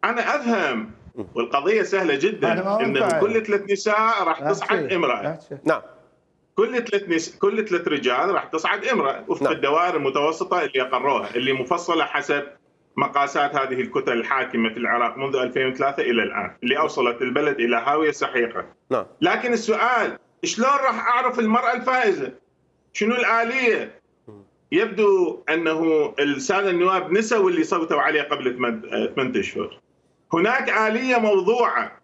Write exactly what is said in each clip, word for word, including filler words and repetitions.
انا افهم والقضيه سهله جدا، انه كل ثلاث نساء راح تصعد امراه. نعم. كل ثلاث نس... كل ثلاث رجال راح تصعد امراه وفق نعم. الدوائر المتوسطه اللي اقروها، اللي مفصله حسب مقاسات هذه الكتل الحاكمه في العراق منذ ألفين وثلاثة الى الان، اللي اوصلت البلد الى هاويه سحيقه. نعم. لكن السؤال شلون راح اعرف المراه الفائزه؟ شنو الاليه؟ يبدو انه الساده النواب نسوا اللي صوتوا عليه قبل ثمانية اشهر. هناك آلية موضوعة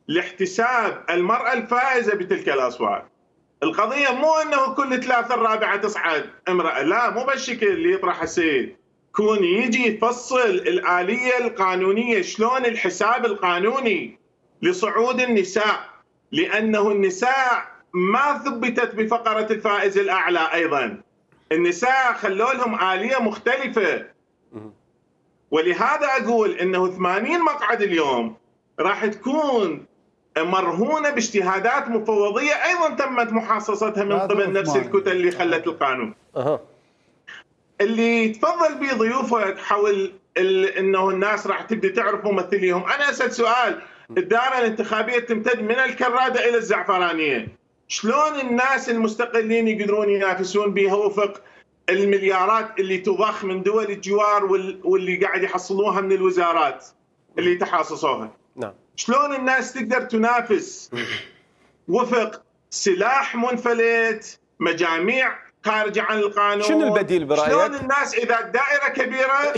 لاحتساب المرأة الفائزة بتلك الأصوات. القضية مو أنه كل ثلاثة الرابعة تصعد امرأة، لا، مو بالشكل اللي يطرح السيد. كون يجي يفصل الآلية القانونية، شلون الحساب القانوني لصعود النساء، لأنه النساء ما ثبتت بفقرة الفائز الأعلى. أيضا النساء خلوا لهم آلية مختلفة، ولهذا أقول أنه ثمانين مقعد اليوم راح تكون مرهونة باجتهادات مفوضية أيضا تمت محاصصتها من قبل نفس الكتل اللي خلت القانون. أه. اللي تفضل به ضيوفك حول أنه الناس راح تبدي تعرف ممثليهم. أنا أسأل سؤال، الدائرة الانتخابية تمتد من الكرادة إلى الزعفرانية، شلون الناس المستقلين يقدرون ينافسون بها وفق المليارات اللي تضخ من دول الجوار واللي قاعد يحصلوها من الوزارات اللي تحاصصوها؟ نعم. شلون الناس تقدر تنافس وفق سلاح منفلت، مجاميع خارجة عن القانون؟ شنو البديل برأيك؟ شلون الناس إذا الدائرة كبيرة